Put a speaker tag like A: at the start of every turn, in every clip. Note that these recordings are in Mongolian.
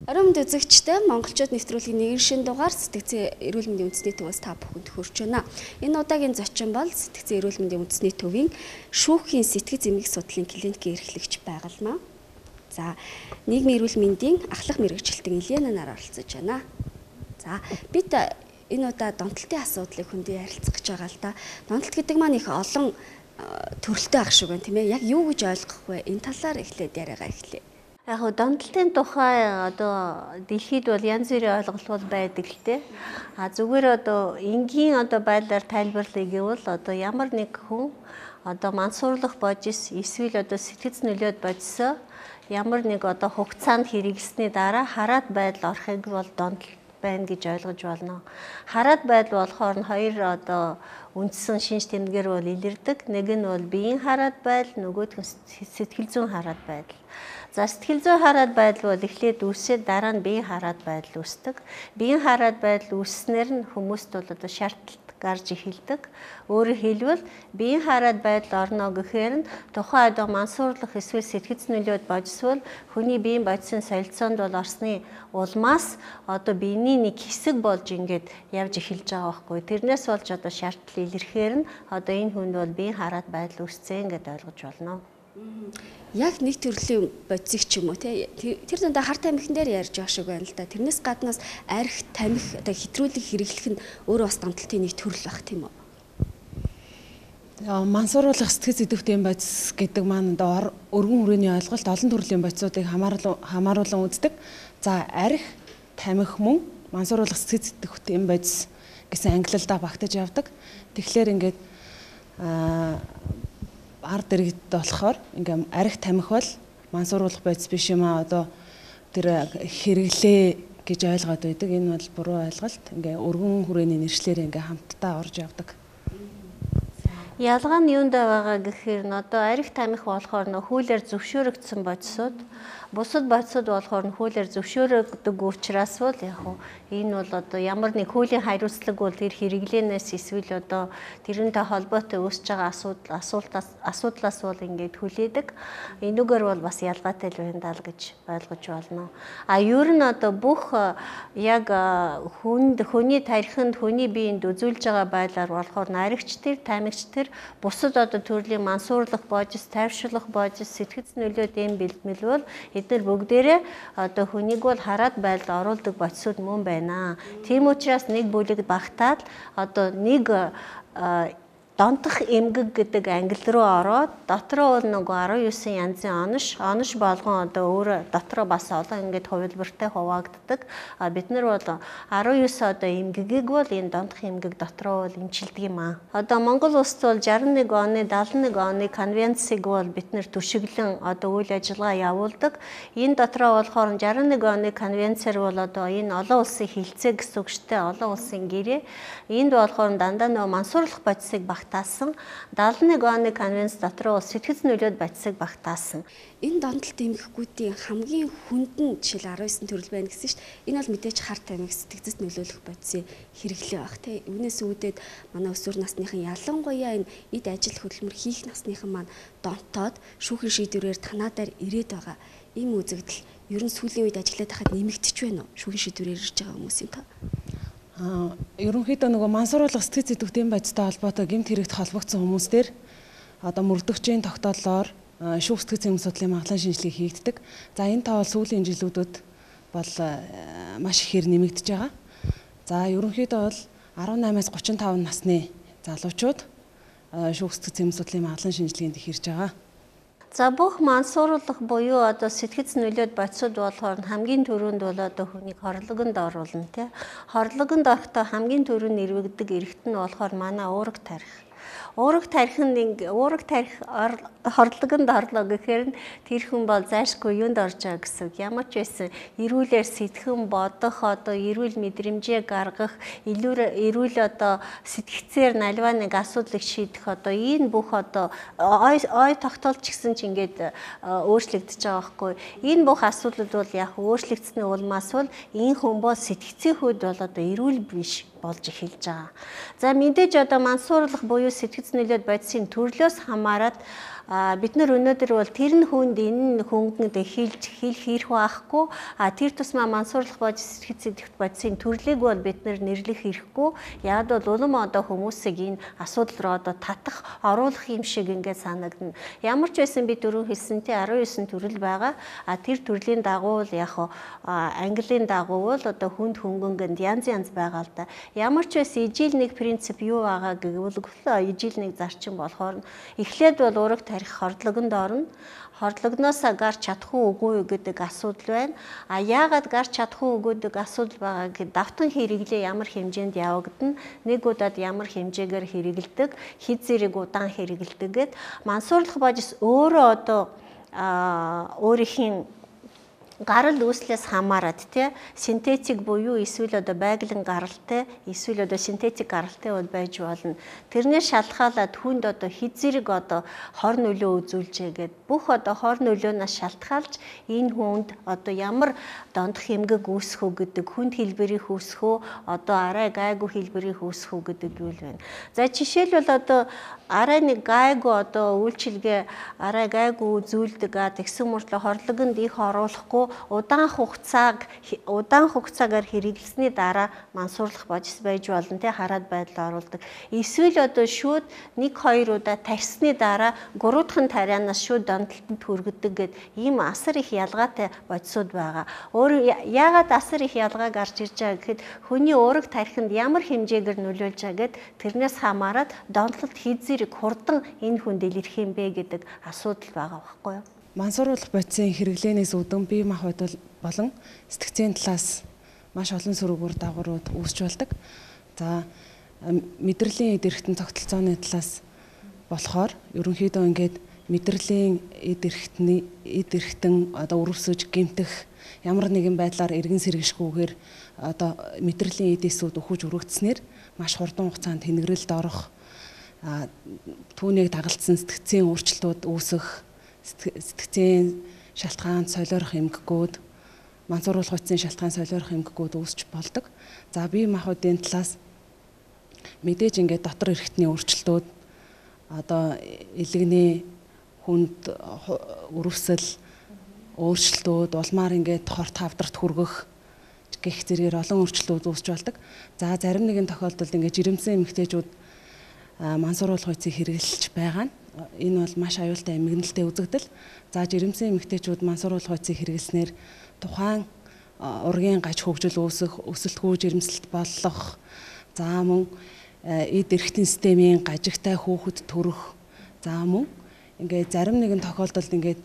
A: Орон мэнд үзэгчтэй монголчууд нэвтрүүлгийн нэгэн шин дугаар сэтгцэн эрүүл мэндийн үндэсний төвөөс та бүхэнд хүрч байна. Энэ удаагийн зочин бол сэтгцэн эрүүл мэндийн үндэсний төвийн шүүхийн сэтгэц эмгэг судлалын клиникийн эрхлэгч байгалмаа. За, нийгмийн эрүүл мэндийн ахлах мэргэжилтэн Илена нар оролцож байна. За, бид энэ удаа донтолтын асуудлыг хүндээ ярилцах гэж байгаа л да. Донтолт гэдэг маань их олон төрөлтэй ах шиг байна, тийм ээ. Яг юу гэж ойлгох вэ? Энэ талаар эхлээд яриагаа эхлэе.
B: Яг донтолтын тухай дэлхийд бол янз бүрийн ойлголт байдаг л те. Зүгээр энгийн байдлаар тайлбарлая гэвэл ямар нэг хүн мансуурлах божис эсвэл сэтгэц нөлөөд божисоо ямар нэг хугацаанд хэрэглэсний дараа хараат байдал орохыг бол донтолт байна гэж ойлгож болно. Хараат байдал болохоор хоёр үндсэн шинж тэмдгээр бол илэрдэг. Нэг нь бол биеийн хараат байдал, нөгөөх нь сэтгэл зүйн хараат байдал. За, сэтгэл зүйн хараат байдал бол эхлээд үүсээд дараа нь биеийн хараат байдал үүсдэг. Биеийн хараат байдал үүсснээр нь хүмүүст бол шаардлагат гарч эхэлдэг. Өөрөөр хэлбэл биеийн хараат байдал орно гэхээр нь тухайн мансуурлах эсвэл сэтгэц нөлөөд божисвол хүний биеийн бодисын солилцоонд бол орсны улмаас биений нэг хэсэг болж ингээд явж эхэлж байгаа байхгүй. Тэрнээс болж шаардлага илэрхээр нь энэ хүнд бол биеийн хараат байдал үүсцэн гэдээ ойлгож болно.
A: Яг нэг төрлийн бодисыг ч юм уу те тэр дундаа хар тамхин дээр ярьж байгаа шиг байна л да. Тэрнээс гаднаас арх тамхи хэтрүүлэг хэрэглэх нь өөрөө бас донтолтын нэг төрөл баг тийм үү?
C: Мансууруулах сэтгэц идэвхтэй бодис гэдэг маань өргөн хүрээний ойлголт олон төрлийн бодисуудыг хамааруулан үздэг. За, арх тамхи мөн мансууруулах сэтгэц идэвхтэй бодис гэсэн ангиллалдаа багтаж явдаг. Тэгэхээр ингээд ард иргэд болохоор ингээм арх тамхи бол мансууруулах бодис биш юм аа тэр хэрэглээ гэж ойлгоод байдаг. Энэ бол буруу ойлголт. Ингээ өргөн хүрээний нэршлэр ингээ хамтдаа орж явдаг.
B: Ялгаа нь юунд байгаа гэхээр арх тамхи болохоор хуулиар зөвшөөрөгдсөн бодисууд, бусад бодисууд болохоор хуулиар зөвшөөрөгдөг учраас бол энэ бол ямар нэг хуулийн хариуцлага бол тэр хэрэглэнээс эсвэл тэрнтэй холбоотой үүсэж байгаа асуудлаас бол ингээд хүлээдэг. Энүүгээр бол бас ялгаатай л байна даа гэж ойлгож болно. Ер нь бүх яг хүний тархинд хүний биед үзүүлж байгаа байдлаар болохоор архич тэр, тамхич тэр бусад төрлийн мансуурлах божис, тайвшруулах божис, сэтгэц нөлөөд эм бэлтгэл бол эдгээр бүгдээрээ хүнийг бол хараат байдалд оруулдаг бодисууд мөн байна. Тийм учраас нэг бүлэг багтаад нэг донтох эмгэг гэдэг англи руу ороод дотроо бол 19 янзын онош болгон өөр дотроо бас олон ингээд хувилбартай хуваагддаг. Бид нар бол 19 эмгэгийг бол энэ донтох эмгэг дотроо бол эмчилдэг юм аа. Монгол улсад бол 61 оны 71 оны конвенцийг бол бид нар түшиглэн үйл ажиллагаа явуулдаг. Энэ дотроо болохоор 61 оны конвенцээр бол энэ олон улсын хилцээ гэсэн үг шүү дээ. Олон улсын гэрээ. Энд болохоор дандаа мансуурлах бодисыг багтаасан. 71 оны конвенц дотор сэтгэц нөлөөд бодисыг багтаасан.
A: Энэ донтолт эмгэгүүдийн хамгийн хүндэн жишээл 19 төрөл байна гэсэн шүү дээ. Энэ бол мэдээж хар тамхи сэтгэцэд нөлөөлөх бодисын хэрэглээ баг тий. Үүнээс үүдээд манай өсвөр насныхан ялангуяа энэ эд ажил хөдөлмөр хийх насныхан маань донтоод шүүхийн шийдвэрээр танаадаар ирээд байгаа. Ийм үзэгдэл ер нь сүүлийн үед ажиллаад байхад нэмэгдэж байна уу? Шүүхийн шийдвэрээр ирж байгаа хүмүүсийн та.
C: Ерөнхийдөө мансууруулах сэтгэц идэвхтэй бодистой холбоотой гэмт хэрэгт холбогдсон хүмүүстэр мөрдөгчийн тогтооллоор шүүх сэтгэц эмгэг судлалын магадлан шинжилгээ хийгддэг. За, энэ тоо сүүлийн жилүүдэд бол маш ихээр нэмэгдэж байгаа. За, ерөнхийдөө бол 18-аас 35 насны залуучууд шүүх сэтгэц эмгэг судлалын магадлан шинжилгээнд их ирж байгаа.
B: За, бүх мансууруулах буюу сэтгэц нөлөөд бодисууд болохоор хамгийн түрүүнд бол хүнийг хорлогонд оруулна тий. Хорлогонд орохдоо хамгийн түрүүнд нэрвэгдэг эрэгт нь болохоор манай уурэг тарих. Уурэг тарих хорлогонд орлоо гэхээр тэр хүн бол зайлшгүй юунд орж байгаа гэсэн. Ямар ч байсан эрүүлэр сэтгэн бодох эрүүл мэдрэмжээ гаргах, эрүүл сэтгцээр наливаа нэг асуудлыг шийдэх энэ бүх ой тогтоолч гэсэн ч ингээд өөрчлөгдөж байгаа байхгүй. Энэ бүх асуудлууд бол яг өөрчлөгдсөний улмаас бол энэ хүн бол сэтгцийн хувьд бол эрүүл биш болж эхэлж байгаа. За, мэдээж мансуурлах буюу сэтгэц нөлөөд бодисын төрлөөс хамаарат бид нар өнөөдөр бол тэр нь хүнд энэ хөнгөнд хилж хийх байхгүй. Тэр тусмаа мансуурлах бодис сэтгцийн бодисын төрлийг бол бид нар нэрлэх хэрэггүй. Яг бол улам одоо хүмүүсийг энэ асуудал руу одоо татах, оруулах юм шиг ингээд санагдана. Ямар ч байсан би дөрөв хэлсэнтэй 19 төрөл байгаа. Тэр төрлийн дагуу л яг английн дагуу бол одоо хүнд хөнгөнгөнд янз байгаа л да. Ямар ч байсан ижил нэг принцип юу байгаа гэвэл ижил нэг зарчим болохоор эхлээд бол ураг тарих хордлогонд орно. Хордлогноосоо гарч чадах уугүй гэдэг асуудал байна. Яагаад гарч чадах уугүй гэдэг асуудал байгаа гэхэд давтан хэрэглээ ямар хэмжээнд явагдана, нэг удаад ямар хэмжээгээр хэрэгэлдэг, хэд зэрэг удаан хэрэгэлдэг гэд мансуурлах бодис өөрөө одоо өөрийн гарал үүслээс хамаарат тий синтетик буюу эсвэл одоо байгалийн гаралтай эсвэл одоо синтетик гаралтай бол байж болно. Тэрнээс шалтгаалаад хүнд одоо хэд зэрэг одоо хор нөлөө үзүүлжээгээд бүх одоо хор нөлөөнөөс шалтгаалж энэ хүнд одоо ямар дондох эмгэг үүсэх үү гэдэг хүнд хэлбэрийг үүсэх үү одоо арай гайгүй хэлбэрийг үүсэх үү гэдэг юу вэ? За жишээлбэл одоо арай нэг гайгүй одоо үйлчилгээ арай гайгүй үзүүлдэг тэгсэн мөртлөө хорлогонд их оруулахгүй удаан хугацаагаар хэрэглэсний дараа мансуурлах бодис байж болно те хараад байдал оруулдаг. Эсвэл одоо шууд 1-2 удаа тарьсны дараа 3 дахь тарианаас шууд донтолтод хүргэдэг гэд ийм асар их ялгаатай бодисууд байгаа. Яагаад асар их ялгаа гарч ирж байгаа гэхэд хүний ураг тархинд ямар хэмжээгээр нөлөөлж байгаа гэд тэрнээс хамаарат донтолт хэд зэрэг хурдан энэ хүн дэлгэрэх юм бэ гэдэг асуудал байгаа байхгүй юу?
C: Мансууруулах бодисын хэрэглээнээс үүдэн бие махбод болон сэтгцийн талаас маш олон сөрөг дагаврууд үүсч болдог. За мэдрэлийн эд эрхтэн тогтолцооны талаас болохоор ерөнхийдөө ингээд мэдрэлийн эд эрхтэн одоо өрөвсөж гэмтэх ямар нэгэн байдлаар эргэн сэргишгүйгээр одоо мэдрэлийн эдээсүүд өгөж өргөгдснээр маш хурдан хугацаанд тэнэгрэлд орох түүнийг дагалдсан сэтгцийн өөрчлөлтүүд үүсэх сэтгцийн шалтгаанд солиорох эмгэгүүд мансууруулах бодисын шалтгаан солиорох эмгэгүүд үүсч болдог. За бие махбодын талаас мэдээж ингээд дотор эрхтний өөрчлөлтүүд одоо илэгний хүнд өрөвсөл өөрчлөлтүүд улмаар ингээд хорт хавдарт хүргэх гэх зэргээр олон өөрчлөлтүүд үүсч болдог. За зарим нэгэн тохиолдолд ингээд жирэмсэн эмэгтэйчүүд мансууруулах бодисыг хэрэглэж байгаа нь энэ бол маш аюултай эмгэнэлтэй үзэгдэл. За жирэмсэн эмэгтэйчүүд мансууруулах бодисыг хэрэглэснээр тухайн ургийн гаж хөгжил үүсэх, өсөлтгүй жирэмслэлт болох, за мөн эд эрхтэн системийн гажигтай хүүхэд төрөх, за мөн ингээд зарим нэгэн тохиолдолд ингээд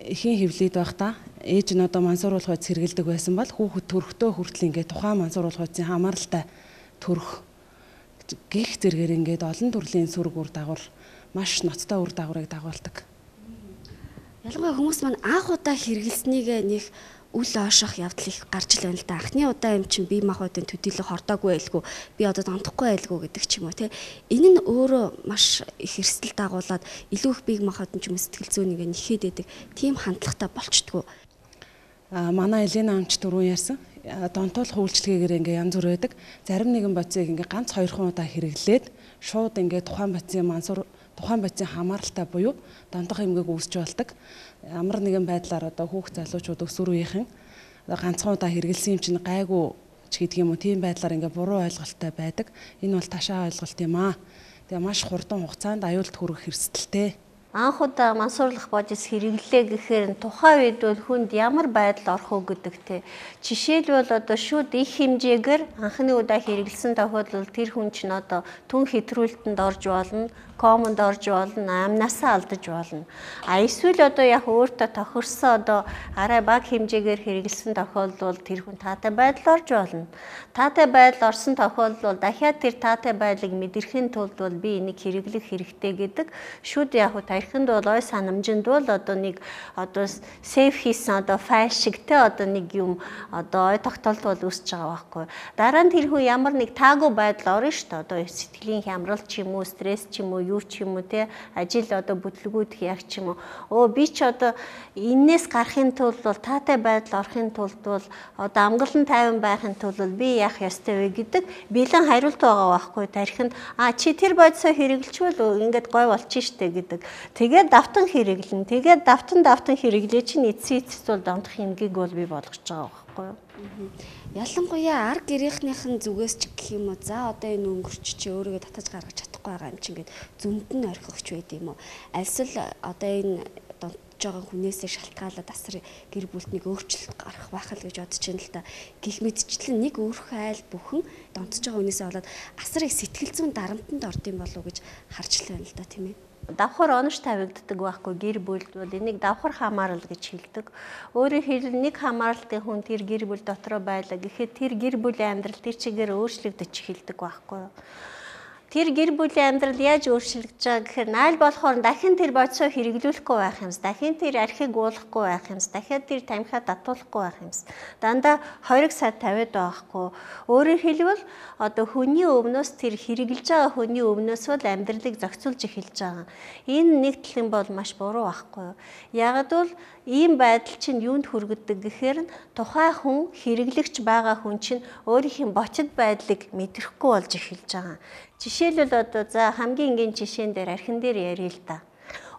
C: эхийн хөвлөд байхдаа ээж нь одоо мансууруулах бодис хэрэглэдэг байсан бол хүүхэд төрөхдөө хүртэл ингээд тухайн мансууруулах бодисын хамааралтай төрөх гих зэргээр ингээд олон төрлийн сөрөг үр дагавар маш ноцтой үр дагаврыг дагуулдаг.
A: Ялангуяа хүмүүс маань анх удаа хэрэглэснийг нэг үл оошох явдал их гарч ил байна л да. Анхны удаа юм чинь бие махбодын төдийлө хордоогүй байлгүй, би одоо донтохгүй байлгүй гэдэг ч юм уу те. Энэ нь өөрөө маш их эрсдэл дагуулад илүү их бие махбодын ч юм сэтгэл зүйнийг нэхэд идэг тийм хандлагатай болчдгоо.
C: Манай Елена амч түрүүн ярьсан. Донтуулах үйлчлэгээр ингээ янз бүр байдаг. Зарим нэгэн бодисыг ингээ ганц 2 удаа хэрэглээд шууд ингээ тухайн бодисын хамааралтай буюу донтох эмгэг үүсч болдог. Ямар нэгэн байдлаар одоо хүүхд залуучууд өсвөр үеийнхэн ганцхан удаа хэрэгэлсэн юм чинь гайгүй ч гэдэг юм уу тийм байдлаар ингээ буруу ойлголттой байдаг. Энэ бол ташаа ойлголт юм аа. Тэгээ маш хурдан хугацаанд аюулт хүрэх эрсдэлтэй.
B: Анх удаа мансуурлах бодис хэрэглээ гэхээр тухайн үед бол хүнд ямар байдал орох уу гэдэгтэй. Жишээлбэл одоо шууд их хэмжээгээр анхны удаа хэрэглэсэн тохиолдолд тэр хүн чинь одоо түн хэтрүүлтэнд орж болно, комонд орж болно, амнасаа алдаж болно. Эсвэл одоо яг өөртөө тохирсон одоо арай бага хэмжээгээр хэрэглэсэн тохиолдолд тэр хүн таатай байдал орж болно. Таатай байдал орсон тохиолдолд дахиад тэр таатай байдлыг мэдрэхийн тулд бол би энийг хэрэглэх хэрэгтэй гэдэг шүүд яг тархинд бол ой санамжинд бол одоо нэг одоо сейф хийсэн одоо файл шиг те одоо нэг юм одоо ой тогтолт бол үүсэж байгаа байхгүй. Дараа нь тэр хүн ямар нэг таагүй байдал орно шүү дээ. Одоо сэтгэлийн хямрал ч юм уу, стресс ч юм уу, юу ч юм уу те ажил одоо бүтлгүүдх яг ч юм уу. Би ч одоо энээс гарахын тулд бол таатай байдал орохын тулд бол одоо амгалан тайван байхын тулд би яах ёстой вэ гэдэг бэлэн хариулт байгаа байхгүй. Тархинд чи тэр бодисоо хэрэглэчвэл ингээд гой болчих штэ гэдэг. Тэгээд давтан хэрэглэн. Тэгээд давтан хэрэглээ чинь эцсийн бол донтох эмгийг бол би болгож байгаа байхгүй юу?
A: Ялангуяа ар гэрийнхнийхэн зүгээс ч гэх юм уу за одоо энэ өнгөрч чи өөрийгөө татаж гаргаж чадахгүй байгаа юм чи ингээд зүмд нь орхигч байд юм уу? Альсэл одоо энэ донтож байгаа хүнээсээ шалтгаалаад асар гэр бүлд нэг өөрчлөлт гарах байх л гэж бодож байна л да. Гэх мэтчлэн нэг өөрхөн айл бүхэн донтож байгаа хүнээсээ болоод асар их сэтгэл зүйн дарамтанд орд юм болов уу гэж харж л байна л да тийм ээ.
B: Давхар онош тавигддаг байхгүй гэр бүлд бол энийг давхар хамаарал гэж хэлдэг. Өөрөөр хэлбэл нэг хамааралтай хүн тэр гэр бүл дотроо байлаа гэхэд тэр гэр бүлийн амьдрал тэр чигээр өөрчлөгдөж эхэлдэг байхгүй юу? Тэр гэр бүлийн амьдрал яаж өөрчлөгдөж байгаа гэхээр найл болохоор дахин тэр бодисоо хэрэглүүлэхгүй байх юмс, дахин тэр архийг уулахгүй байх юмс, дахиад тэр тамхиа татуулахгүй байх юмс. Дандаа 20 сар тавиад байхгүй. Өөрөөр хэлбэл одоо хүний өвнөөс тэр хэрэглэж байгаа хүний өвнөөс бол амьдралыг зохицуулж эхэлж байгаа. Энэ нэг талын бол маш буруу байхгүй юу? Ягд бол ийм байдал чинь юунд хүргэдэг гэхээр тухайн хүн хэрэглэгч байгаа хүн чинь өөрийнх нь ботид байдлыг мэдрэхгүй болж эхэлж байгаа. Жишээлбэл одоо за хамгийн энгийн жишээн дээр архин дээр ярил л да.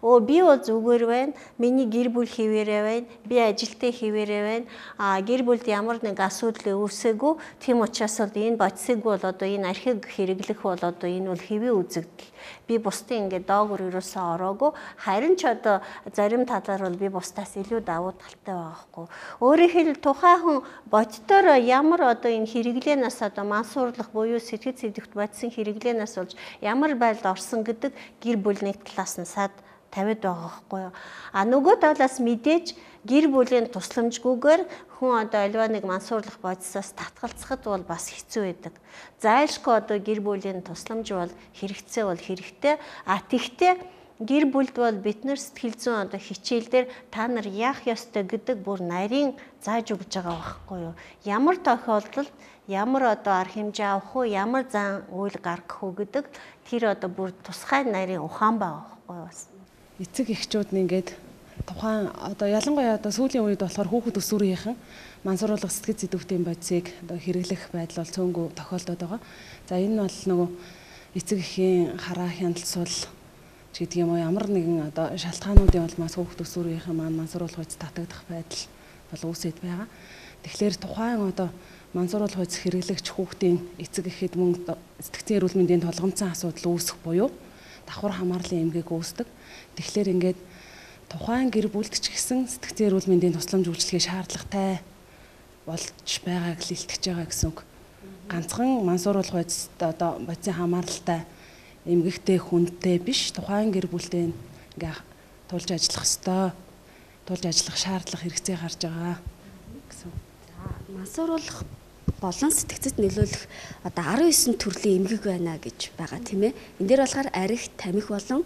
B: Би бол зүгээр байна. Миний гэр бүл хിവэрэ байна. Би ажилтаа хിവэрэ байна. Гэр бүлд ямар нэг асуудал үүсээгүй. Тийм учраас бол энэ бодисыг бол одоо энэ архийг хэрэглэх бол одоо энэ бол хэвийн үзэгдэл. Би бусдын ингээд доогуур ерөөсөө ороогүй. Харин ч одоо зарим талаар бол би бусдаас илүү давуу талтай байгаа хгүй. Өөрөөр хэлбэл тухайн хүн боддоор ямар одоо энэ хэрэглээнээс одоо мансуурлах буюу сэтгэл зүйдэгт бодисын хэрэглээнээс болж ямар байдалд орсон гэдэг гэр бүл нэг талаас нь сад тавиад байгаа байхгүй юу. Нөгөө талаас мэдээж гэр бүлийн тусламжгүйгээр хүн одоо альва нэг мансуурлах бодисоос татгалзахад бол бас хэцүү байдаг. Зайлшгүй одоо гэр бүлийн тусламж бол хэрэгтэй. Тэгтээ гэр бүлд бол бид нар сэтгэл зүйн одоо хичээлдэр та нар яах ёстой гэдэг бүр нарийн зааж өгж байгаа байхгүй юу. Ямар тохиолдолд ямар одоо арга хэмжээ авах уу, ямар зан үйл гаргах уу гэдэг тэр одоо бүр тусгай нарийн ухаан байгаа байхгүй юу бас.
C: Эцэг эхчүүд нь ингээд тухайн одоо ялангуяа одоо сүүлийн үед болохоор хүүхэд өсвөрийнхэн мансууруулах сэтгэл зүйн бодисыг одоо хэрэглэх байдал бол цөөнгөө тохиолдоод байгаа. За энэ бол нөгөө эцэг эхийн хараа хяналтсуул ч гэдэг юм уу ямар нэгэн одоо шалтгаануудын улмаас хүүхэд өсвөрийнхэн мансууруулах үйс татагдах байдал бол үүсэт байгаа. Тэгэхээр тухайн одоо мансууруулах үйс хэрэглэгч хүүхдийн эцэг эхэд мөн сэтгцийн эрүүл мэндийн толгомцсон асуудал үүсэх буюу давхар хамаарлын эмгээг үүсдэг. Тэгэхээр ингээд тухайн гэр бүлд ч гэсэн сэтгцийн эрүүл мэндийн тусламж үйлчилгээ шаардлагатай болж байгааг л илтгэж байгаа гэсэн үг. Ганцхан мансууруулах үйс одоо бодисын хамааралтай эмгэгтэй хүнтэй биш тухайн гэр бүлтэй ингээ тулж ажиллах ёстой. Тулж ажиллах шаардлага хэрэгцээ гарч байгаа гэсэн.
A: За мансууруулах болон сэтгцэд нөлөөлөх одоо 19 төрлийн эмгэг байна гэж байгаа тийм ээ. Энд дээр болохоор арх, тамхи болон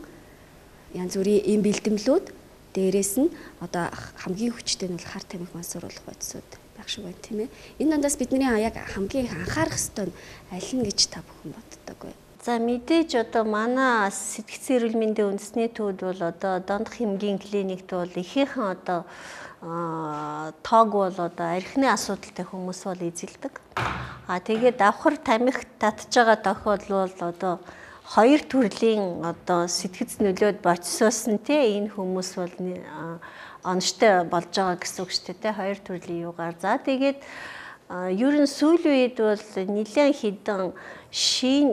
A: янз бүрийн эм бэлтгэлүүд дээрээс нь одоо хамгийн хүчтэй нь бол хар тамхи мансууруулах бодисууд байх шиг байна тийм ээ. Энэ дондаас бидний яг хамгийн их анхаарах ёстой нь аль нь гэж та бүхэн боддог вэ?
B: За мэдээж одоо манай сэтгцийн эрүүл мэндийн үндэсний төвд бол одоо дондох эмгийн клиникт бол ихээхэн одоо тоог бол одоо архины асуудалтай хүмүүс бол эзэлдэг. Тэгээд давхар тамхи татж байгаа тохиолдол бол одоо хоёр төрлийн одоо сэтгц нөлөөд бодисоос нь энэ хүмүүс бол онцтой болж байгаа гэсэн үг шүү дээ. Хоёр төрлийн юугаар. За тэгээд ер нь сүүлийн үед бол нэлээд хідэн шин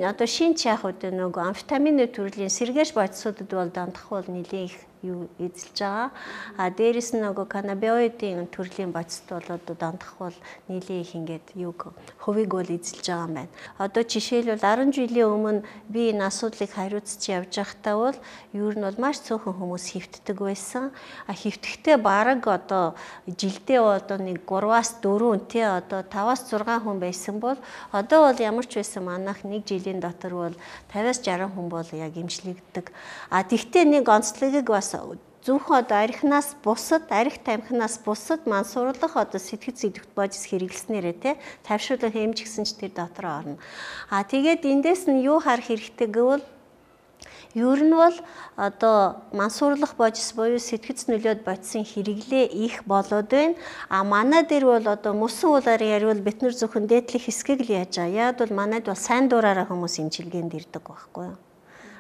B: ч яах вэ нөгөө амфетамины төрлийн сэргээш бодисуудад бол дандах бол нэлээд их юу эзэлж байгаа. Дээрэс нь нөгөө каннабиоидын төрлийн бодисд бол одоо дандах бол нэлээд их ингээд юг хувийг бол эзэлж байгаа юм байна. Одоо жишээлбэл 10 жилийн өмнө би энэ асуудлыг хариуцж явж байхдаа бол ер нь бол маш цөөхөн хүмүүс хөвтдөг байсан. Хөвтөхдөө бараг одоо жилдээ одоо нэг 3-аас 4 тий одоо 5-аас 6 хүн байсан бол одоо бол ямар ч байсан манайх нэг жилийн дотор бол 50-аас 60 хүн бол яг эмчлэгддэг. Тэгтээ нэг онцлогийг бас зөвхөн одоо архинаас бусад, арх тамхинаас бусад мансууруулах одоо сэтгэл зүйдэгт бодис хэрэглэснээрээ тий тавьшруулах хэмж гисэн ч тэр дотор орно. Тэгээд эндээс нь юу харах хэрэгтэй гэвэл ер нь бол одоо мансуурлах бодис буюу сэтгц нөлөөд бодисын хэрэглээ их болоод байна. Манай дээр бол одоо мөсөн уулаар яривал бид нар зөвхөн дээдлэх хэсгийг л яаж байгаа. Яг бол манайд бол сайн дураараа хүмүүс эмчилгээнд ирдэг байхгүй юу.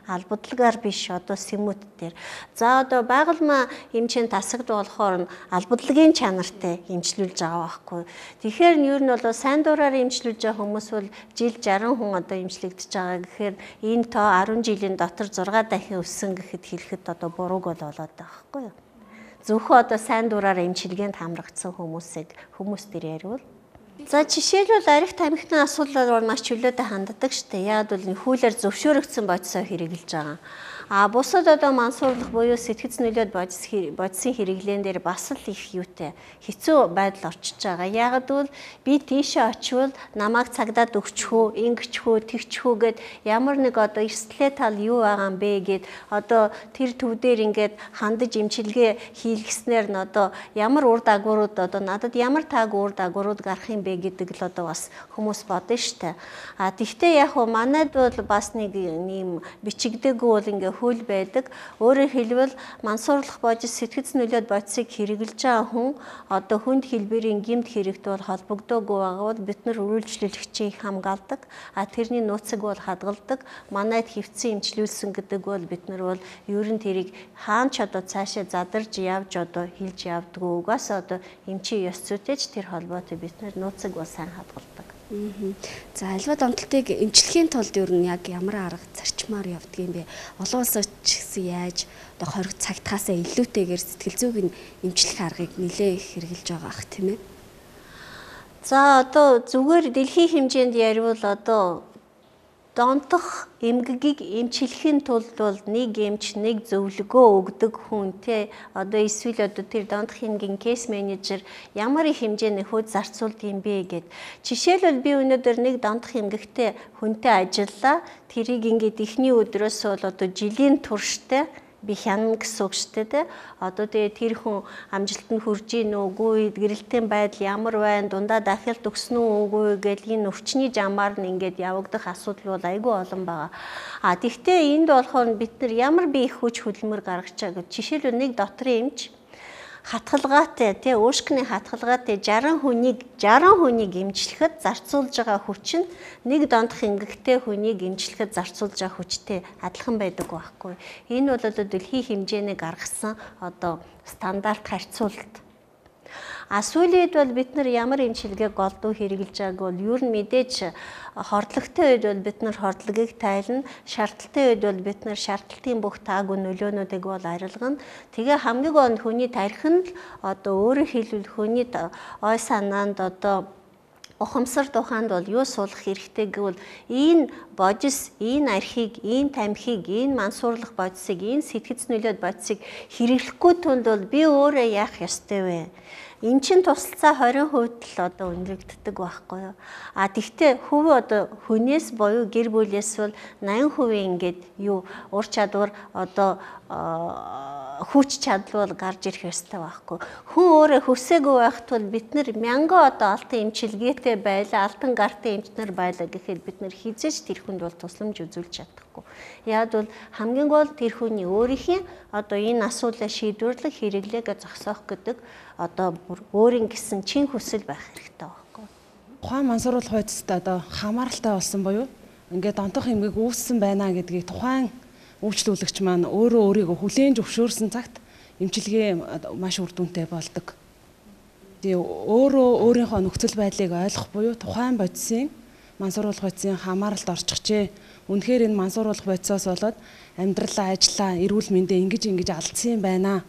B: албадлагаар биш одоо сэмүүд дээр. За одоо байгальмаа эмчийн тасагд болохоор нь албадлагын чанартай эмчлүүлж байгаа байхгүй. Тэгэхээр нь ер нь бол сайн дураар эмчлүүлж байгаа хүмүүс бол жил 60 хүн одоо эмчлэгдэж байгаа гэхээр энэ тоо 10 жилийн дотор 6 дахин өссөн гэхэд хэлэхэд одоо бурууг болоод байгаа байхгүй юу. Зөвхөн одоо сайн дураар эмчилгээнд хамрагдсан хүмүүс дээр яриул. За жишээлбэл арх тамхины асуудлаар маш чөлөөтэй ханддаг штэ. Яг бол хуулиар зөвшөөрөгдсөн бодисоо хэрэгжилж байгаа. Бусад одоо мансуурлах буюу сэтгэц нөлөөд бодисын хэрэглэн дээр бас л их юутай хэцүү байдал орчиж байгаа. Яагад бол би тийшээ очивол намайг цагдаад өгчихөө, ингэчихөө, тэгчихөө гэд ямар нэг одоо эрсдлээ тал юу байгаа юм бэ гэд одоо тэр төв дээр ингээд хандаж имчилгээ хийлгэснээр нь одоо ямар үр дагаврууд одоо надад ямар таагүй үр дагаврууд гарах юм бэ гэдэг л одоо бас хүмүүс бодно штэ. Тэгвэл яг уу манайд бол бас нэг юм бичигдээгүй бол ингээ хууль байдаг. Өөрөөр хэлбэл мансуурлах бодис сэтгэц нөлөөд бодисыг хэрэгжилж байгаа хүн одоо хүнд хэлбэрийн гэмт хэрэгт бол холбогдоогүй байгаа бол бид нар үргэлжлүүлэгчийг хамгаалдаг. Тэрний нууцыг бол хадгалдаг. Манайд хэвцэн эмчлүүлсэн гэдэг бол бид нар бол ер нь тэрийг хаан ч одоо цаашаа задарж явж одоо хилж явдггүй. Угаас одоо эмчийн ёс зүйтэйч тэр холбоотой бид нар нууцыг бол сайн хадгалдаг.
A: За альва донтолтыг эмчлэхийн тулд ер нь яг ямар арга зарчмаар явдаг юм бэ? Олон улсад ч гэсэн яаж одоо хориг цагтаасаа илүүтэйгээр сэтгэл зүйг нь эмчлэх аргыг нэлээ их хэрэгжилж байгаа ах тийм ээ.
B: За одоо зүгээр дэлхийн хэмжээнд яривал одоо донтох эмгэгийг эмчлэхийн тулд бол нэг эмч нэг зөвлөгөө өгдөг хүн те одоо эсвэл одоо тэр донтох эмгийн кейс менежер ямар их хэмжээний хүүд зарцуулд юм бэ гэд. Жишээлбэл би өнөөдөр нэг донтох эмгэгтэй хүнтэй ажиллаа. Тэрийг ингээд эхний өдрөөс бол одоо жилийн турштай би хянана гэсэн үг шүү дээ. Одоо тэгээ тэр хүн амжилтанд хүрж ийн үгүй, гэрэлтийн байдал ямар байна, дундаа дахиалт өгсөн үү үгүй гэл энэ өвчний жамаар нь ингээд явагдах асуудал бол айгүй олон байгаа. Тэгвэл энд болохоор бид нар ямар бие их хүч хөдөлмөр гаргаж байгаа гэж жишээлбэл нэг дотрын эмч хатгалгаатай тий уушкины хатгалгаатай 60 хүнийг эмчлэхэд зарцуулж байгаа хүч нь нэг дондох эмгэгтэй хүнийг эмчлэхэд зарцуулж байгаа хүчтэй адилхан байдаг байхгүй. Энэ бол одоо дэлхийн хэмжээний гаргасан одоо стандарт харьцуулалт. Сүүлийн үед бол бид нар ямар эмчилгээг голдуу хэрэгжилж байгааг бол ер нь мэдээж хордлогтой үед бол бид нар хордлогыг тайлна, шаардлагатай үед бол бид нар шаардлагын бүх таагүй нөлөөнүүдийг бол арилгана. Тэгээ хамгийн гол нь хүний тархинд л одоо өөрөөр хэлбэл хүний ой санаанд одоо ухамсар тухайд бол юу суулгах хэрэгтэй гэвэл энэ бодис, энэ архийг, энэ тамхиг, энэ мансуурлах бодисыг, энэ сэтгэц нөлөөд бодисыг хэрэглэхгүй тунд бол би өөрөө яах ёстой вэ? Эн чин тусалцаа 20% л одоо өндрөгддөг байхгүй юу. Тэгтээ хөв одоо хүнээс буюу гэр бүлээс бол 80% ингээд юу ур чадвар одоо хүч чадал бол гарч ирэх ёстой байхгүй. Хүн өөрөө хүсээгүй байхад бол бид нар мянган одоо алтан эмчилгээтэй байлаа, алтан гартын эмчнэр байлаа гэхэд бид нар хизээч тэр хүнд бол тусламж үзүүлж чадахгүй. Яг бол хамгийн гол тэр хүний өөрийнхөө одоо энэ асуудлаа шийдвэрлэх хэрэглээгээ зогсоох гэдэг одоо өөрийн гэсэн чин хүсэл байх хэрэгтэй байхгүй.
C: Тухайн мансууруулах бодисд одоо хамааралтай болсон буюу ингээд донтох эмгэг үүссэн байна гэдгийг тухайн үйлчлүүлэгч маань өөрийгөө хүлээн зөвшөөрсөн цагт эмчилгээ маш үр дүнтэй болдог. Тэгээ өөрийнхөө нөхцөл байдлыг ойлгох буюу тухайн бодисын мансууруулах бодисын хамааралд орчихжээ. Үнэхээр энэ мансууруулах бодисоос болоод амьдралаа, ажлаа, эрүүл мэндээ ингэж алдсан юм байна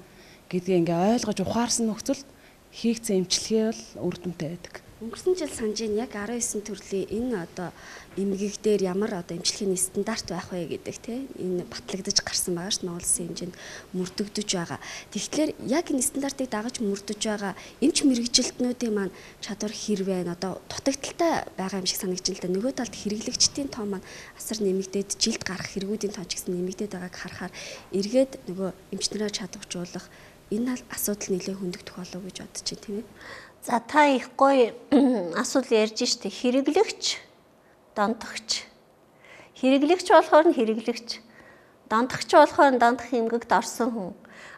C: гэдгийг ингээ ойлгож ухаарсан нөхцөлд хийгдсэн эмчилгээ бол үр дүнтэй байдаг.
A: Өнгөрсөн жил санаж яг 19 төрлийн энэ одоо эмгэг дээр ямар одоо эмчилгээний стандарт байх вэ гэдэг тийм энэ батлагдаж гарсан байгаа шүү дээ. Монгол Улсын хэмжээнд мөрдөгдөж байгаа. Тэгэхээр яг энэ стандартыг дагаж мөрдөж байгаа эмч мэрэгжилтнүүдийн маань чадвар хэрвээ одоо дутагдaltaй байгаа юм шиг санагдаж байна л да. Нөгөө талд хэрэглэгчдийн тоо маань асар нэмэгдээд жилд гарах хэрэгүүдийн тоо ч гэсэн нэмэгдээд байгааг харахаар эргээд нөгөө эмчнэрээ чадваржуулах энэ асуудал нэлээд хөндөгдөх болов уу гэж бодож байна тийм ээ.
B: За та их гоё асуудал ярьж штэ хэрэглэгч, донтогч. Хэрэглэгч болохоор нь хэрэглэгч, донтогч болохоор нь донтох эмгэгт орсон хүн.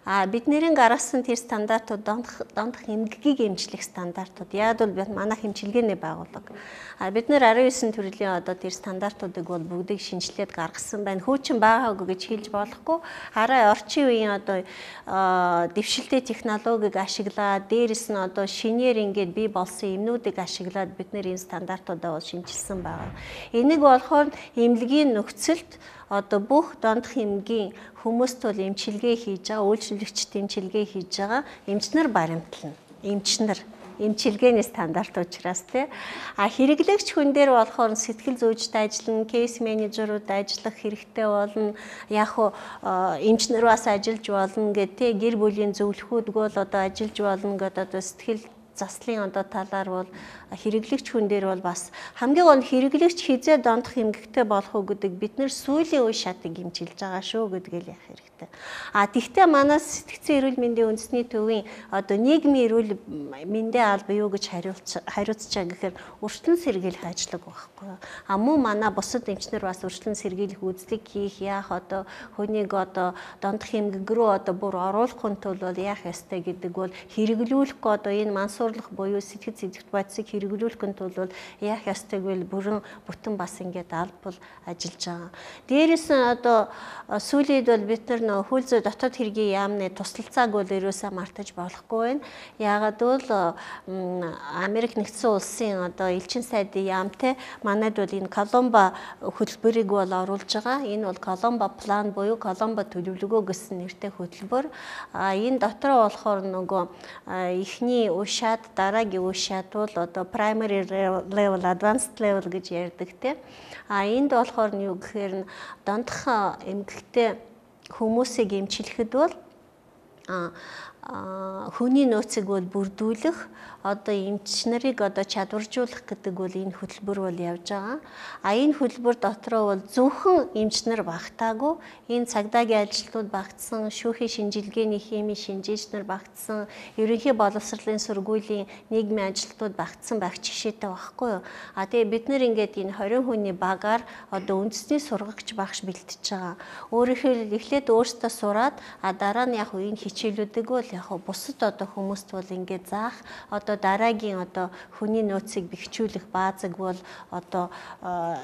B: Бидний гаргасан тэр стандартууд дондох эмгэгийг эмчлэх стандартууд. Яг бол манай хэмчилгээний байгууллага. Бид нэр 19 төрлийн одоо тэр стандартуудыг бол бүгдийг шинжилээд гаргасан байна. Хөөчин байгаагүй гэж хэлж болохгүй. Хараа орчин үеийн одоо дэвшилтэй технологиг ашиглаад дээрэс нь одоо шинээр ингээд бий болсон юмнуудыг ашиглаад бид нэр энэ стандартуудаа бол шинжилсэн байна. Энийг болохоор эмнэлгийн нөхцөлд одоо бүх дондох эмгийн хүмүүст бол эмчилгээ хийж байгаа, үйлчлэгчд эмчилгээ хийж байгаа, эмчнэр баримтлна. Эмчилгээний стандарт учраас тий. Хэрэглэгч хүн дээр болохоор сэтгэл зүйчд ажиллана, кейс менежерүүд ажиллах хэрэгтэй болно. Яг уу эмчнэр бас ажиллаж болно гэх тий. Гэр бүлийн зөвлөхүүд бол одоо ажиллаж болно гэдэг одоо сэтгэл заслын одоо талаар бол хэрэглэгч хүн дээр бол бас хамгийн гол хэрэглэгч хизээ дондох эмгэгтэй болох уу гэдэг бид нэр сүүлийн үе шатыг эмчилж байгаа шүү гэдгээл яах хэрэгтэй. Тэгвэл манай сэтгцэн эрүүл мэндийн үндэсний төвийн одоо нийгмийн эрүүл мэндийн алба юу гэж хариуцчаа гэхээр өршлөн сэргийлэх ажиллагаа байхгүй. Мөн манай бусад эмчнэр бас өршлөн сэргийлэх үзлэг хийх яах одоо хүнийг одоо дондох эмгэг рүү одоо бүр оруулахын тулд бол яах ёстой гэдэг бол хэрэглүүлэх одоо энэ мансуурлах буюу сэтгэл зүйн бодисыг хэрэглүүлэхин тулд яах ёстойг бол бүрэн бүтэн бас ингээд албал ажиллаж байгаа. Дээрээс нь одоо сүүлд бол бид нар хөл зүй дотоод хэргийн яамны тусалцааг бол ерөөсөө мартаж болохгүй байна. Яагаад бол Америк нэгдсэн улсын одоо элчин сайдын яамтай манайд бол энэ Коломбо хөтөлбөрийг бол оруулж байгаа. Энэ бол Коломбо план буюу Коломбо төлөвлөгөө гэсэн нэртэй хөтөлбөр. Энэ дотор болохоор нөгөө эхний уушаад дараагийн уушаад бол одоо primary level, advanced level гэж ярьдаг те. Энд болохоор нь юу гэхээр дондох эмгэгтэй хүмүүсийг эмчлэхэд бол хүний нөөцийг бол бүрдүүлэх одоо эмч нарыг одоо чадваржуулах гэдэг бол энэ хөтөлбөр бол явж байгаа. Энэ хөтөлбөр дотроо бол зөвхөн эмч нар багтаагүй энэ цагдаагийн ажилтнууд багтсан, шүүхийн шинжилгээний химийн шинжээч нар багтсан, ерөнхий боловсролын сургуулийн нийгмийн ажилтнууд багтсан байх жишээтэй байхгүй юу. Тэгээ бид нэр ингээд энэ 20 хүний багаар одоо үндэсний сургагч багш бэлтэж байгаа. Өөрөөр эхлээд өөртөө сураад дараа нь яг энэ хичээлүүдийг бол яг бусад одоо хүмүүст бол ингээд заах одоо дараагийн одоо хүний нөөцийг бэхжүүлэх баазыг бол одоо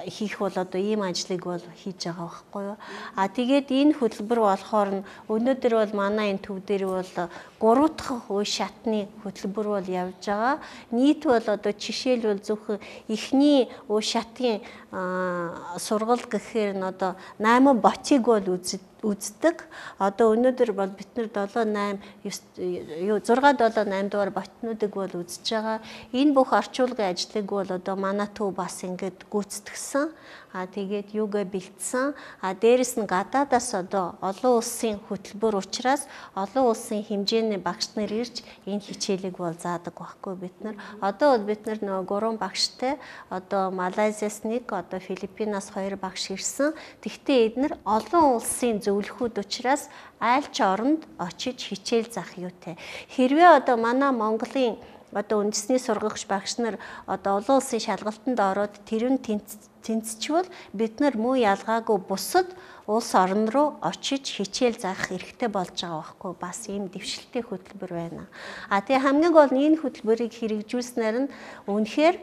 B: хийх бол одоо ийм ажлыг бол хийж байгаа байхгүй юу. Тэгээд энэ хөтөлбөр болохоор нь өнөөдөр бол манай энэ төв дээр бол 3 дахь үе шатны хөтөлбөр бол явж байгаа. Нийт бол одоо жишээлбэл зөвхөн эхний үе шатын сургал гэхээр нь одоо 8 ботыг бол үздэг. Одоо өнөөдөр бол бид нар 6-7-8 дугаар ботнуудыг бол үзэж байгаа. Энэ бүх орчуулгын ажлыг бол одоо манай төв бас ингээд гүйцэтгсэн. Тэгээд юугаа бэлдсэн. Дээрэс нь гадаадаас одоо олон улсын хөтөлбөр учраас олон улсын хэмжээний багш нар ирж энэ хичээлийг бол заадаг байхгүй бид нар. Одоо бол бид нар нөгөө 3 багштай одоо Малайзиас 1, одоо Филиппинаас 2 багш ирсэн. Тэгвэл эдгээр олон улсын зөвлөхүүд учраас аль ч оронд очиж хичээл заах юутай. Хэрвээ одоо манай Монголын одоо үндэсний сургагч багш нар одоо олон улсын шалгалтанд ороод тэр нь тэнцчихвэл бид нар муу ялгаагүй бусад улс орн руу очиж хичээл заах хэрэгтэй болж байгаа байхгүй бас ийм дэвшилттэй хөтөлбөр байна. Тэгээ хамгийн гол нь энэ хөтөлбөрийг хэрэгжүүлснээр нь үнэхээр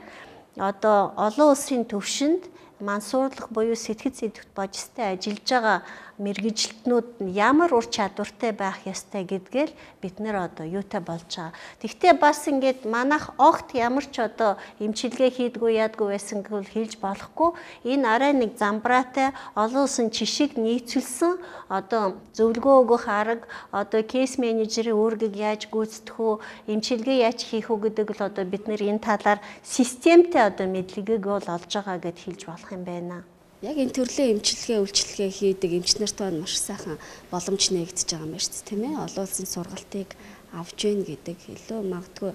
B: одоо олон улсын төвшөнд мансуурлах буюу сэтгэл зүйн бодистой ажиллаж байгаа мэргэжилтнүүд нь ямар ур чадвартай байх ёстой гэдгээл бид нэр одоо юутай болж байгаа. Тэгвэл бас ингээд манайх огт ямар ч одоо эмчилгээ хийдгүү яадгүй байсан гэвэл хэлж болохгүй. Энэ арай нэг замбраатай олон улсын жишиг нийцүүлсэн одоо зөвлөгөө өгөх арга, одоо кейс менежерийн үүргийг яаж гүйцэтгэх үү, эмчилгээ яаж хийх үү гэдэг л одоо бид нэр энэ талаар системтэй одоо мэдлэгийг бол олж байгаа гэд хэлж болох юм байна.
A: Яг энэ төрлийн эмчилгээ, үйлчилгээ хийдэг эмч нартай маш сайхан боломж нэгдэж байгаа юм байна шүү дээ, тийм ээ. Олон улсын сургалтыг авч гин гэдэг илүү магадгүй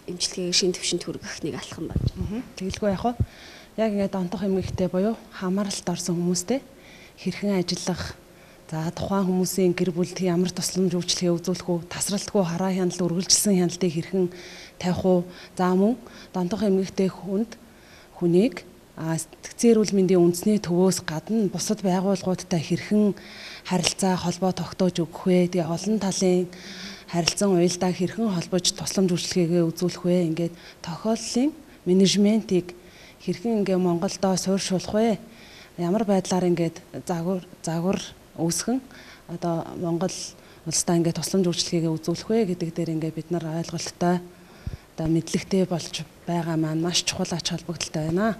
A: эмчилгээгээр шин төвшөнд хүргэх нэг алхам байна.
C: Тэгэлгүй яг хаа. Яг ингээд онтох эмгэгтэй буюу хамааралд орсон хүмүүстэй хэрхэн ажиллах, за тухайн хүмүүсийн гэр бүлд ямар тусламж үйлчилгээ үзүүлэх үү, тасралтгүй хараа хяналт үргэлжилсэн хяналтыг хэрхэн тавих уу, за мөн донтох эмгэгтэй хүнийг Сэтгцийн эрүүл мэндийн үндэсний төвөөс гадна бусад байгууллагуудтай хэрхэн харилцаа холбоо тогтоож өгөх вэ? Тэгээ олон талын харилцан уялдаа хэрхэн холбож тусламж үйлчилгээгээ үзүүлэх вэ? Ингээд тохиоллын менежментийг хэрхэн ингээ Монголдоо суурьшуулах вэ? Ямар байдлаар ингээд загвар үүсгэн одоо Монгол улсдаа ингээд тусламж үйлчилгээгээ үзүүлэх вэ гэдэг дээр ингээд бид нар ойлголттой одоо мэдлэгтэй болж байгаа маань маш чухал ач холбогдолтой байна.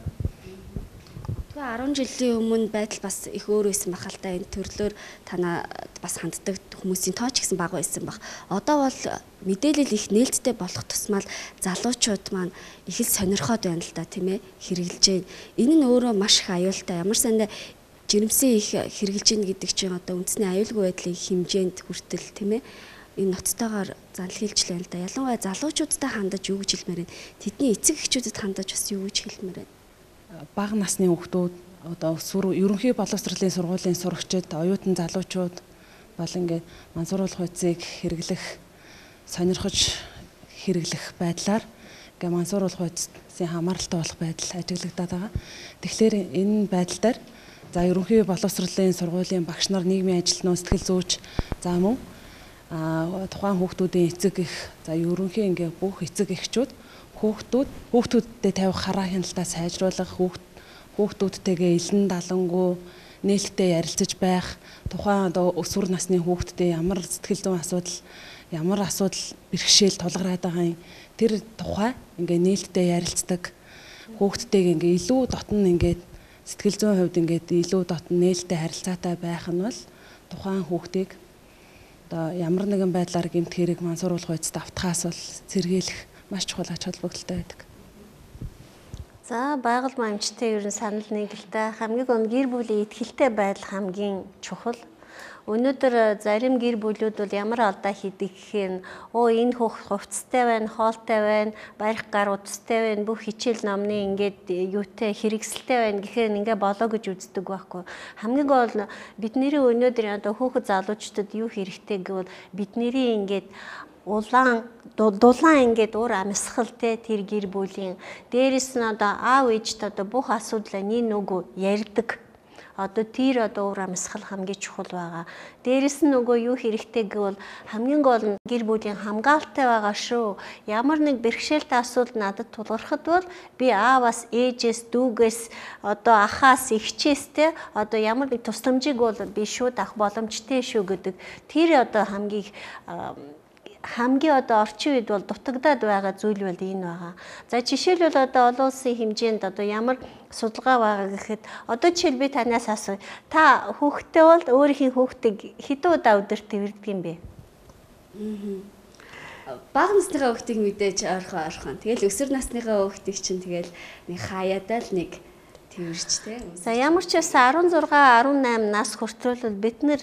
A: 10 жилийн өмнө байдал бас их өөр байсан бахал та энэ төрлөөр танаа бас ханддаг хүмүүсийн тоо ч гэсэн бага байсан баг. Одоо бол мэдээлэл их нээлттэй болох тусмал залуучууд маань их л сонирхоод байна л да тийм ээ хэрэгжилж байна. Энэ нь өөрөө маш их аюултай. Ямар сандаа жирэмсэн их хэрэгжилж гин гэдэг чинь одоо үндэсний аюулгүй байдлын хэмжээнд хүртэл тийм ээ энэ ноцтойгоор занл хийлж байна л да. Ялангуяа залуучуудтай хандаж юу гэж хэлмээр байна. Тэдний эцэг эхчүүдэд хандаж бас юу гэж хэлмээр байна.
C: Бага насны хүүхдүүд одоо ерөнхий боловсролын сургуулийн сурагчид, оюутан залуучууд бол ингээд мансууруулах байцыг хэрэглэх, сонирхож хэрэглэх байдлаар ингээд мансууруулах байцын хамааралтай болох байдал ажиглагдаад байгаа. Тэгэхээр энэ байдал дээр за ерөнхий боловсролын сургуулийн багш нар, нийгмийн ажилтнууд, сэтгэл зүйч за мөн тухайн хүүхдүүдийн эцэг эх за ерөнхий ингээд бүх эцэг эхчүүд хүүхдүүдтэй тавих хараа хяналтаа сайжруулах, хүүхдүүдтэйгээ илэн далангуй нээлттэй ярилцаж байх, тухайн одоо өсвөр насны хүүхдтэй ямар сэтгэл зүйн асуудал, ямар асуудал бэрхшээл тулгараад байгаа юм тэр тухай ингээ нээлттэй ярилцдаг, хүүхдтэйгээ ингээ илүү дотн ингээд сэтгэл зүйн хувьд ингээд илүү дотн нээлттэй харилцаатай байх нь бол тухайн хүүхдийг одоо ямар нэгэн байдлаар гэмт хэрэг мансууруулах байцад автахаас бол сэргийлэх маш чухал ач холбогдолтой байдаг.
B: За байгаль маягчтай ер нь санал нийгэлтэй хамгийн гол гэр бүлийн итгэлтэй байдал хамгийн чухал. Өнөөдөр зарим гэр бүлүүд бол ямар алдаа хийдэг гэхээр энэ хүүхэд хувцастай байна, хоолтой байна, барих гар утастай байна, бүх хичээл номны ингээд юутай хэрэгсэлтэй байна гэхээр ингээ болоо гэж үздэг байхгүй. Хамгийн гол бидний өнөөдөр одоо хүүхэд залуучуудад юу хэрэгтэй гэвэл бидний ингээд дулаан ингээд уур амьсгалтэй тэр гэр бүлийн дээрэс нь одоо аав ээжтэй одоо бүх асуудлаа нэг нөгөө ярьдаг. Одоо тэр одоо уур амьсгал хамгийн чухал байгаа. Дээрэс нь нөгөө юу хэрэгтэй гэвэл хамгийн гол нь гэр бүлийн хамгаалалтай байгаа шүү. Ямар нэг бэрхшээлтэй асуудал надад тулгархад бол би ааваас, ээжээс, дүүгээс, одоо ахаас, эгчээс те одоо ямар нэг тусламжийг бол би шууд авах боломжтой шүү гэдэг. Тэр одоо хамгийн одоо орчин үед бол дутагдаад байгаа зүйл бол энэ байгаа. За жишээлбэл одоо олон улсын хэмжээнд одоо ямар судалгаа байгаа гэхэд одоо жишээл би танаас асууя. Та хүүхдтэй бол өөрийнхөө хүүхдийг хэдэн удаа өдөрт тэрвэрдэг юм бэ?
A: Бага насныхаа хүүхдийг мэдээж ойрхон. Тэгэл өсвөр насныхаа хүүхдийг чинь тэгэл нэг хаяадаа л нэг тэрвэрч те.
B: За ямар ч байсан 16, 18 нас хүртэл бид нэр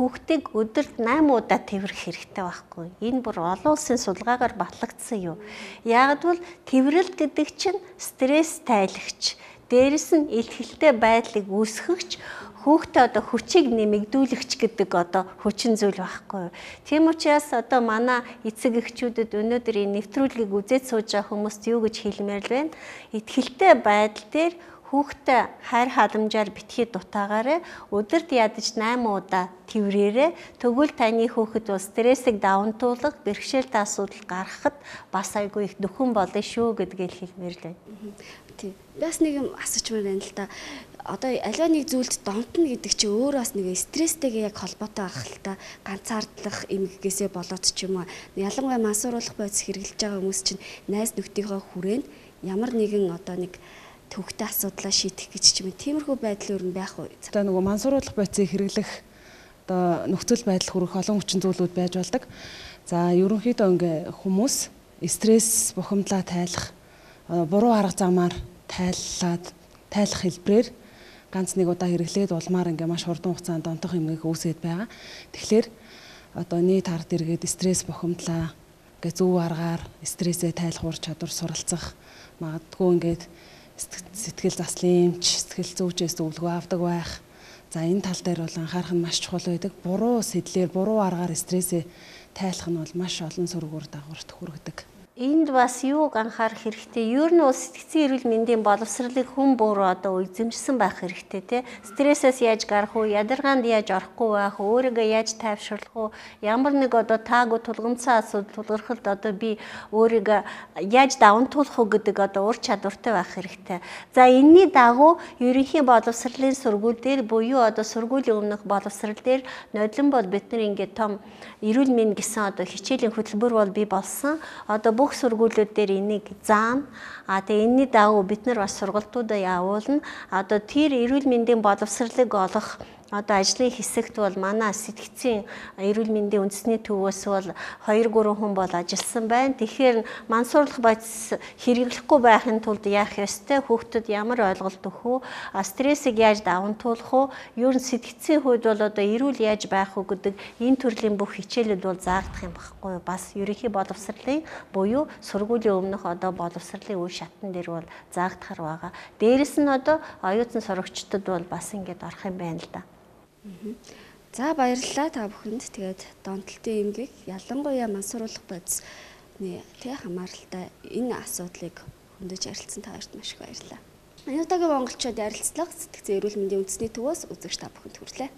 B: хүүхдийг өдөрт 8 удаа тэрвэрх хэрэгтэй байхгүй. Энэ бүр олон улсын судалгаагаар батлагдсан юм. Яг бол тэрвэрлэл гэдэг чинь стресс тайлагч, дээрэс нь илтгэлтэй байдлыг үүсгэгч, хүүхдээ одоо хүчийг нэмэгдүүлэгч гэдэг одоо хүчин зүйл байхгүй. Тийм учраас одоо манай эцэг эхчүүдэд өнөөдөр энэ нэвтрүүлгийг үзээд сууж байгаа хүмүүст юу гэж хэлмээр л байна. Итгэлтэй байдал дээр хүүхдээ хайр халамжаар битгий дутаагаараа өдөрт ядаж 8 удаа тэрвэрээрээ тэгвэл таны хүүхэд бол стрессийг давантуулах, бэрхшээлтэй асуудал гаргахад бас айгүй их нөхөн болно шүү гэдгийг хэлмээр л байна.
A: Тийм. Бас нэг юм асуучмаар байна л да. Одоо аливаа нэг зүйлд донтно гэдэг чинь өөрөө бас нэг стресстэйгээ яг холбоотой байх л та. Ганцаардлах эмгэгээсээ болоод ч юм уу. Ялангуяа мансууруулах байц хэрэгжилж байгаа хүмүүс чинь найз нөхдийнхөө хүрээнд ямар нэгэн одоо нэг төвхтэй асуудлаа шийдэх гэж ч юм. Тиймэрхүү байдал өөр нь байх уу?
C: Одоо нөгөө мансууруулах байцыг хэрэглэх одоо нөхцөл байдал хүрэх олон хүчин зүйлүүд байж болдог. За ерөнхийдөө ингээ хүмүүс стресс бухимдлаа тайлах, буруу арга замаар тайлах хэлбэрээр ганц нэг удаа хэрэглээд улмаар ингээ маш хурдан хугацаанд донтох эмгэг үүсгээд байгаа. Тэгэхээр одоо нийт ард иргэд стресс бухимдлаа ингээ зөв аргаар стрессээ тайлах ур чадвар суралцах, магадгүй ингээд сэтгэл заслын эмч, сэтгэл зүйчээс зөвлөгөө авдаг байх. За энэ тал дээр бол анхаарах нь маш чухал байдаг. Буруу сэтлэр, буруу аргаар стрессээ тайлах нь бол маш олон сөргөөр дагаварт хүргэдэг.
B: Энд бас юуг анхаарах хэрэгтэй? Ер нь сэтгцийн эрүүл мэндийн боловсролыг хүн бүр одоо эзэмшсэн байх хэрэгтэй тий. Стрессээс яаж гарах уу, ядаргаанд яаж орохгүй байх уу, өөрийгөө яаж тайвшруулах уу, ямар нэг одоо таагүй тулгымцсан асуудал тулгархалд одоо би өөрийгөө яаж даван туулах уу гэдэг одоо ур чадвартай байх хэрэгтэй. За энэний дагуу ерөнхий боловсролын сургууль дээр буюу одоо сургуулийн өмнөх боловсрол дээр нодлон бол бид нар ингээд том эрүүл мэнд гэсэн одоо хичээлийн хөтөлбөр бол бий болсон. Одоо бүх сургуулиуд дээр энийг заана. Тэгээ энэний дагуу бид нар бас сургалтуудаа явуулна. Одоо тэр эрүүл мэндийн боловсролыг олох одоо ажлын хэсэгт бол манай сэтгцийн эрүүл мэндийн үндэсний төвөөс бол 2-3 хүн бол ажилласан байна. Тэгэхээр мансуурлах бодис хэрэглэхгүй байхын тулд яах ёстой? Хүүхдэд ямар ойлголт өгөх үү? Стрессийг яаж даван туулах уу? Ер нь сэтгцийн хувьд бол одоо эрүүл яаж байх уу гэдэг энэ төрлийн бүх хичээлүүд бол заагдах юм багхгүй юу? Бас ерөнхий боловсролын буюу сургуулийн өмнөх одоо боловсролын үе шатн дээр бол заагдахар байгаа. Дээрэс нь одоо оюутан сурагчдад бол бас ингэж орох юм байна л да.
A: За баярлалаа та бүхэнд. Тэгээд донтолтын эмгэг ялангуяа мансууруулах бодисны хамааралтай энэ асуудлыг хөндөж ярилцсан та хоёрт маш их баярлалаа. Энэ удаагийн монголчууд ярилцлага сэтгцийн эрүүл мэндийн үндэсний төвөөс үзэгч та бүхэнд хүрэлээ.